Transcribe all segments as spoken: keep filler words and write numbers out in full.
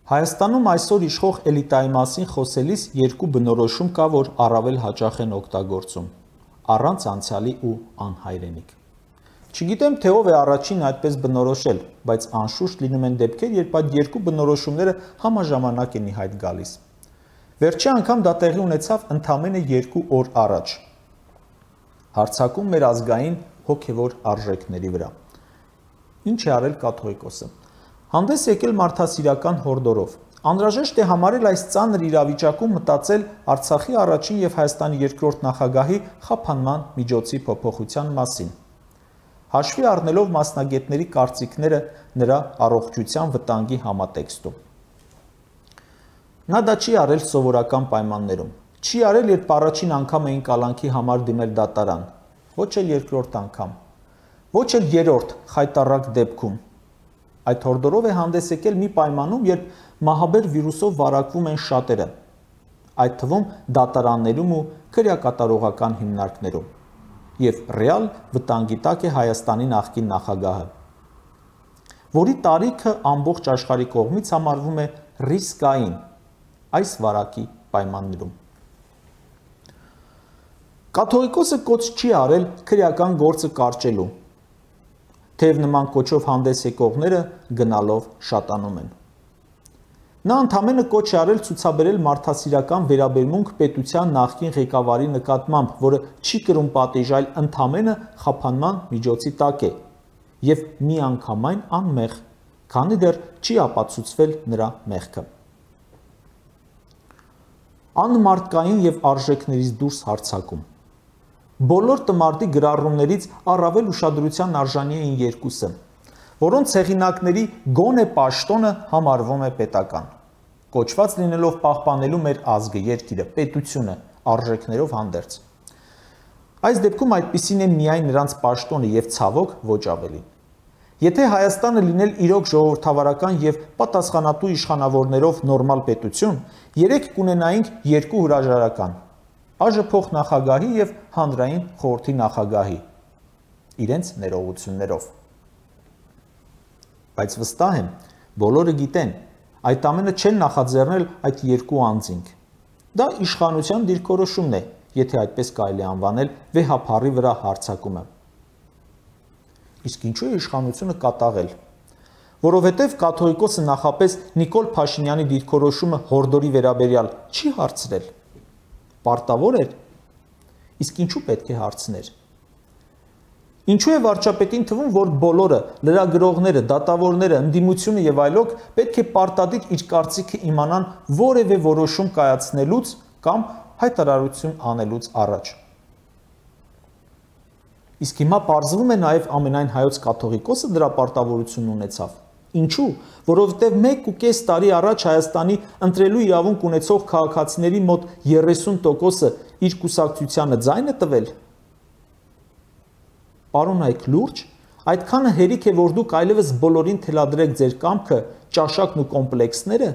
Հայաստանում այսօր իշխող էլիտայի մասին խոսելիս երկու բնորոշում կա, որ առավել հաճախ են օգտագործում՝ առանց անցյալի ու անհայրենիք։ Չգիտեմ, թե ով է առաջին այդպես բնորոշել, բայց անշուշտ լինում են դեպքեր, երբ այդ երկու բնորոշումները համաժամանակ են ի հայտ գալիս։ Վերջի անգամ դա տեղի ունեցավ ընդամենը երկու օր առաջ։ Հարձակում մեր ազգային հոգևոր արժեքների վրա։ Ինչ է արել կաթողիկոսը։ Հանդես եկել մարդասիրական հորդորով։ Անհրաժեշտ է համարել այս ծանր իրավիճակում մտածել Արցախի առաջին եւ Հայաստանի երկրորդ նախագահի խափանման միջոցի փոփոխության մասին, հաշվի առնելով մասնագետների կարծիքները նրա առողջության վտանգի համատեքստում։ Նա դա չի արել սովորական պայմաններում, չի արել, երբ առաջին անգամ էին կալանքի համար դիմել դատարան, ոչ էլ երկրորդ անգամ, ոչ էլ երրորդ խայտառակ դեպքում։ Այդ հորդորով է հանդես եկել մի պայմանում, երբ մահաբեր վիրուսով վարակվում են շատերը, այդ թվում դատարաններում ու քրեակատարողական հիմնարկներում, եւ ռեալ վտանգի տակ է Հայաստանի նախկին նախագահը, որի տարիքը ամբողջ աշխարհի կողմից համարվում է ռիսկային այս վարակի պայմաններում։ Կաթողիկոսը կոչ չի արել քրեական գործը կարճելու, թեև նման կոչով հանդես եկողները գնալով շատանում են։ Նա ընդամենը կոչ է արել ցուցաբերել մարդասիրական վերաբերմունք պետության նախկին ղեկավարի նկատմամբ, որը չի կրում պատիժ, այլ ընդամենը խափանման միջոցի տակ է եւ միանգամայն անմեղ, քանի դեռ չի ապացուցվել նրա մեղքը։ Անմարդկային եւ արժեքներից դուրս հարձակում։ Բոլոր տմարդի գրառումներից առավել ուշադրության արժանի էին երկուսը, որոնց հեղինակների գոնե պաշտոնը համարվում է պետական, կոչված լինելով պահպանելու մեր ազգը, երկիրը, պետությունը, արժեքներով հանդերձ։ Այս դեպքում այդպիսին է միայն նրանց պաշտոնը եւ ցավոք ոչ ավելին։ Եթե Հայաստանը լինել իրոք ժողովրդավարական եւ պատասխանատու իշխանավորներով նորմալ պետություն, երեք կունենայինք երկու հրաժարական՝ ԱԺ փոխնախագահի եւ հանրային խորհրդի նախագահի իրենց ներողություններով։ Բայց վստահ եմ, բոլորը գիտեն, այդ ամենը չեն նախաձեռնել այդ երկու անձինք։ Դա իշխանության դիրքորոշումն է, եթե այդպես կարելի անվանել վեհափառի վրա հարձակումը։ Իսկ ինչու է իշխանությունը կատաղել։ Որովհետև կաթողիկոսը նախապես Նիկոլ Փաշինյանի դիրքորոշումը հորդորի վերաբերյալ չի հարցրել։ Պարտավոր էր, իսկ ինչու պետք է հարցներ։ Ինչու է վարչապետին թվում, որ բոլորը, լրագրողները, դատավորները, ընդդիմությունը եւ այլոք պետք է պարտադիր իր կարծիքը իմանան որևէ որոշում կայացնելուց կամ հայտարարություն անելուց առաջ։ Իսկ հիմա պարզվում է նաեւ ամենայն հայոց կաթողիկոսը դրա պարտավորությունն ունեցավ։ Ինչու՞, որովհետև մեկ ու կես տարի առաջ Հայաստանի ընտրելու իրավունք ունեցող քաղաքացիների մոտ երեսուն տոկոսը իր կուսակցությանը ձայն է տվել։ Պարոն Այք լուրջ, այդքանը հերիք է, որ դուք այլևս բոլորին թելադրեք ձեր կամքը, ճաշակն ու կոմպլեքսները։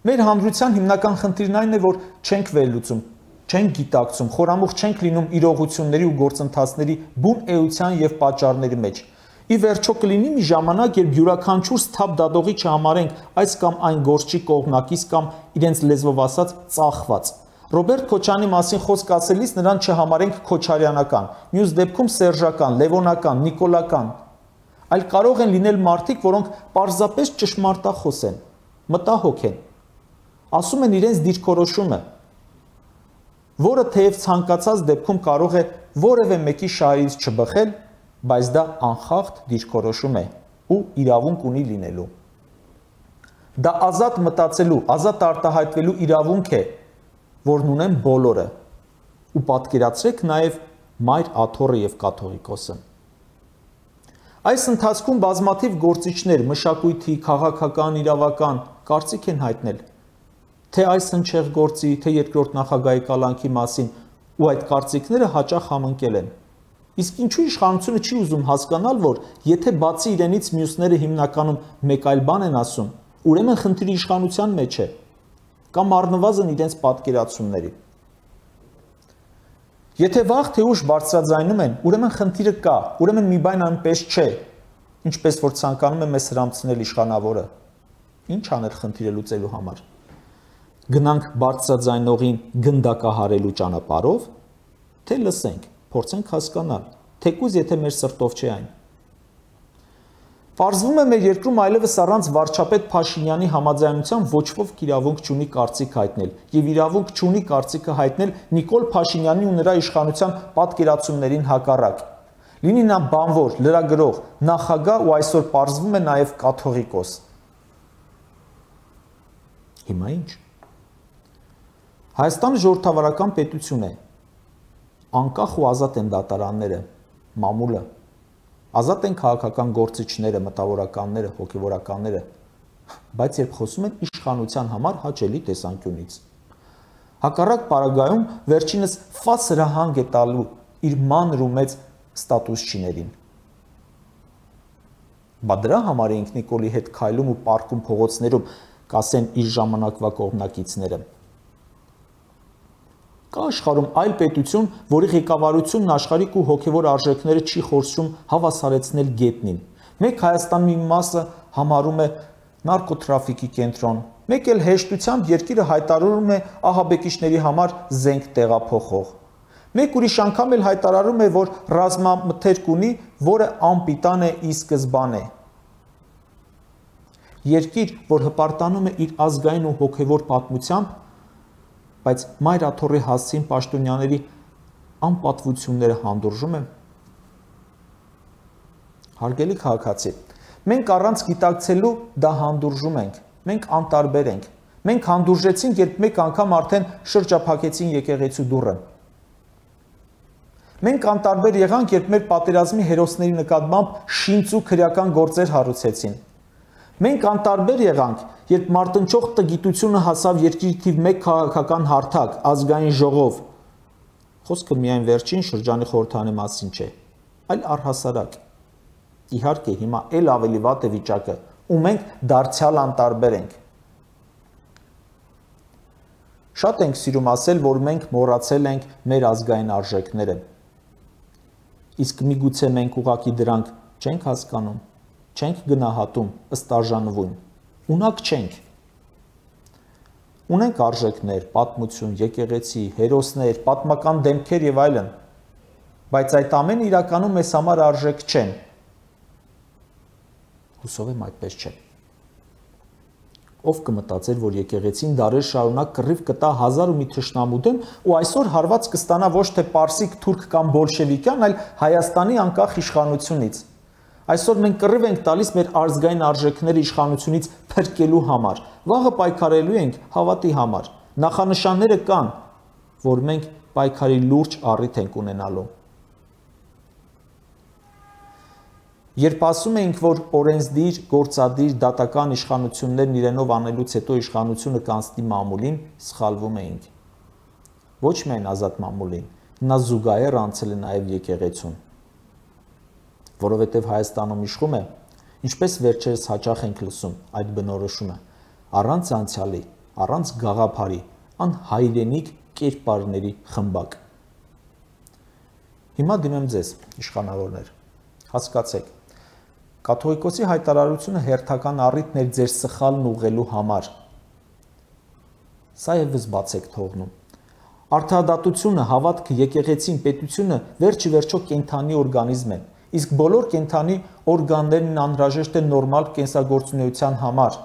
Մեր հանրության հիմնական խնդիրն այն է, որ չենք վերլուծում, չենք գիտակցում, խորամուխ չենք լինում իրողությունների ու գործընթացների բուն էության եւ պատճառների մեջ։ Ի վերջո կլինի մի ժամանակ, երբ յուրաքանչյուր սթափ դատողի չհամարենք այս կամ այն գործչի կողմնակից կամ իրենց լեզվով ասած ծախված։ Ռոբերտ Քոչարյանի մասին խոսք ասելիս նրան չհամարենք քոչարյանական, մյուս դեպքում սերժական, լևոնական, նիկոլական, այլ կարող են լինել մարդիկ, որոնք պարզապես ճշմարտախոս են, մտահոգ են, ասում են իրենց դիրքորոշումը, որը թեև ցանկացած դեպքում կարող է որևէ մեկի շահերից չբխել, բայց դա անխախտ դիրքորոշում է ու իրավունք ունի լինելու։ Դա ազատ մտածելու, ազատ արտահայտվելու իրավունք է, որն ունեն բոլորը, ու պատկերացրեք նաև Մայր Աթոռը եւ կաթողիկոսը։ Այս ընթացքում բազմաթիվ գործիչներ, մշակույթի, քաղաքական, իրավական կարծիք են հայտնել, թե այս հնչեղ գործի, թե երկրորդ նախագահի կալանքի մասին, ու այդ կարծիքները հաճախ համընկել են։ Իսկ ինչու իշխանությունը չի ուզում հասկանալ, որ եթե բացի իրենից մյուսները հիմնականում մեկ այլ բան են ասում, ուրեմն խնդիրը իշխանության մեջ է, կամ առնվազն իրենց պատկերացումների։ Եթե վաղ թե ուշ բարձրաձայնում են, ուրեմն խնդիրը կա, ուրեմն մի բան այնպես չէ, ինչպես որ ցանկանում է մեզ հրամցնել իշխանավորը։ Ինչ աներ խնդիրը լուծելու համար։ Գնանք բարձրաձայնողին գնդակահարելու ճանապարհով, թե լսենք, փորձենք հասկանալ, թեկուզ եթե մեր սրտով չէ այն։ Պարզվում է մեր երկրում այլևս առանց վարչապետ Փաշինյանի համաձայնության ոչ ոք իրավունք չունի կարծիք հայտնել եւ իրավունք չունի կարծիքը հայտնել Նիկոլ Փաշինյանի ու նրա իշխանության պատկերացումներին հակառակ։ Լինի նա բանվոր, լրագրող, նախագահ ու այսօր պարզվում է նաեւ կաթողիկոս։ Հիմա ինչ։ Հայաստանը ժողովրդավարական պետություն է։ Անկախ ու ազատ են դատարանները, մամուլը, ազատ են քաղաքական գործիչները, մտավորականները, հոգևորականները, բայց երբ խոսում են իշխանության համար հաճելի տեսանկյունից։ Հակառակ պարագայում վերջինս ֆաս հրահանգ է տալու իր մանր ու մեծ ստատուսչիներին։ Բա դրա համար էինք Նիկոլի հետ քայլում ու պառկում փողոցներում, կասեն իր ժամանակվա կողմնակիցները։ Կա աշխարհում այլ պետություն, որի ղեկավարությունն աշխարհիկ ու հոգևոր արժեքները չի խորցում հավասարեցնել գետնին։ Մեկ Հայաստանի մի մասը համարում է նարկոտրաֆիկի կենտրոն, մեկ էլ հեշտությամբ երկիրը հայտարարում է ահաբեկիչների համար զենք տեղափոխող։ Մեկ ուրիշ անգամ էլ հայտարարում է, որ ռազմամթերք ունի, որը անպիտան է ի սկզբանե։ Երկիր, որ հպարտանում է իր ազգային ու հոգևոր պատմությամբ, բայց Մայր Աթոռի հասցին պաշտոնյաների անպատվությունները հանդուրժում է։ Հարգելի քաղաքացի, մենք առանց գիտակցելու դա հանդուրժում ենք, մենք անտարբեր ենք, մենք հանդուրժեցինք, երբ մեկ անգամ արդեն շրջափակեցին եկեղեցու դուռը։ Մենք անտարբեր եղանք, երբ մեր պատերազմի հերոսների նկատմամբ շինծ ու քրեական գործեր հարուցեցին։ Մենք անտարբեր եղանք, երբ մարտնչող տգիտությունը հասավ երկրի թիվ մեկ քաղաքական հարթակ, ազգային ժողով։ Խոսքը միայն վերջին շրջանի խորհրդանի մասին չէ, այլ առհասարակ։ Իհարկե, հիմա էլ ավելի վատ է վիճակը, ու մենք դարձյալ անտարբեր ենք։ Շատ ենք սիրում ասել, որ մենք մոռացել ենք մեր ազգային արժեքները։ Իսկ միգուցե մենք ուղղակի դրանք չենք հասկանում, չենք գնահատում, ըստ արժանվուն, ունակ չենք։ Ունենք արժեքներ, պատմություն, եկեղեցի, հերոսներ, պատմական դեմքեր եւ այլն, բայց այդ ամենը իրականում մեզ համար արժեք չեն։ Հուսով եմ այդպես չէ։ Ով կմտածեր, որ եկեղեցին դարեր շարունակ կռիվ կտա հազար ու մի թշնամու դեմ ու այսօր հարված կստանա ոչ թե պարսիկ, թուրք կամ բոլշևիկյան, այլ Հայաստանի անկախ իշխանությունից։ Այսօր մենք կռիվ ենք տալիս մեր ազգային արժեքները իշխանությունից փրկելու համար, վաղը պայքարելու ենք հավատի համար։ Նախանշանները կան, որ մենք պայքարի լուրջ առիթ ենք ունենալու։ Երբ ասում էինք, որ օրենսդիր, գործադիր, դատական իշխանություններն իրենով անելուց հետո իշխանությունը կանցնի մամուլին, սխալվում էինք։ Ոչ միայն ազատ մամուլին, նա զուգահեռ անցել է նաև եկեղեցուն։ Որովհետև Հայաստանում իշխում է, ինչպես վերջերս հաճախ ենք լսում այդ բնորոշումը, առանց անցյալի, առանց գաղափարի, անհայրենիք կերպարների խմբակ։ Հիմա դիմեմ ձեզ, իշխանավորներ, հասկացեք, կաթողիկոսի հայտարարությունը հերթական առիթն էր ձեր սխալն ուղղելու համար։ Սա ևս բաց եք թողնում։ Արդարադատությունը, հավատքը, եկեղեցին, պետությունը վերջի վերջո կենդանի օրգանիզմ են, իսկ բոլոր կենդանի օրգաններն անհրաժեշտ են նորմալ կենսագործունեության համար։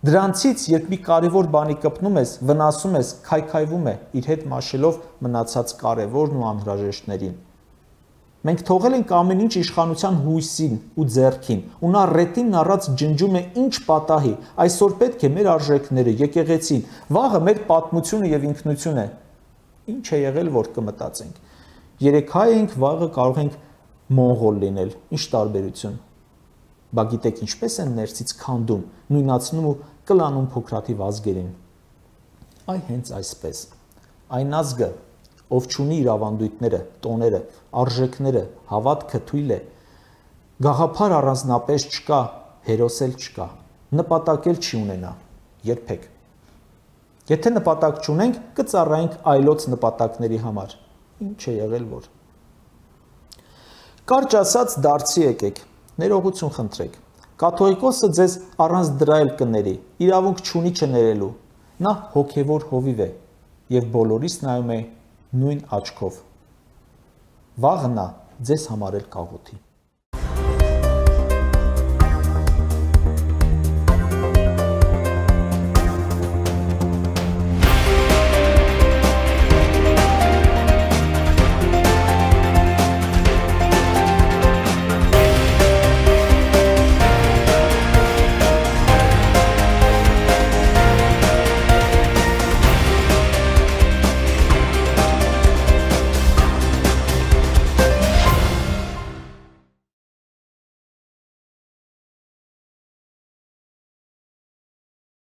Դրանցից, երբ մի կարևոր բանի կպնում ես, վնասում ես, քայքայվում է, իր հետ մաշելով մնացած կարևորն ու անհրաժեշտներին։ Մենք թողել ենք ամեն ինչ իշխանության հույսին ու ձեռքին, ու նա ռետին առած ջնջում է ինչ պատահի, այսօր պետք է մեր արժեքները, եկեղեցին, վաղը մեր պատմությունը եւ ինքնությունը։ Ինչ է եղել, որ կմտածենք։ Երեք հայ ենք, վաղը կարող ենք մոնղոլ լինել, ինչ տարբերություն։ Բա գիտեք ինչպես են ներսից քանդում, նույնացնում ու կլանում փոքրաթիվ ազգերին։ Այ հենց այսպես։ Այն ազգը, ով չունի իր ավանդույթները, տոները, արժեքները, հավատքը թույլ է, գաղափար առանձնապես չկա, հերոսել չկա, նպատակել չի ունենա, երբեք։ Եթե նպատակ չունենք, կծառայենք այլոց նպատակների համար։ Ինչ է եղել, որ։ Կարճ ասած դարձի եկեք, ներողություն խնդրեք։ Կաթողիկոսը ձեզ առանց դրա էլ կների, իրավունք չունի չներելու։ Նա հոգևոր հովիվ է եւ բոլորիս նայում է նույն աչքով։ Վաղը նա ձեզ համար էլ կաղոթի։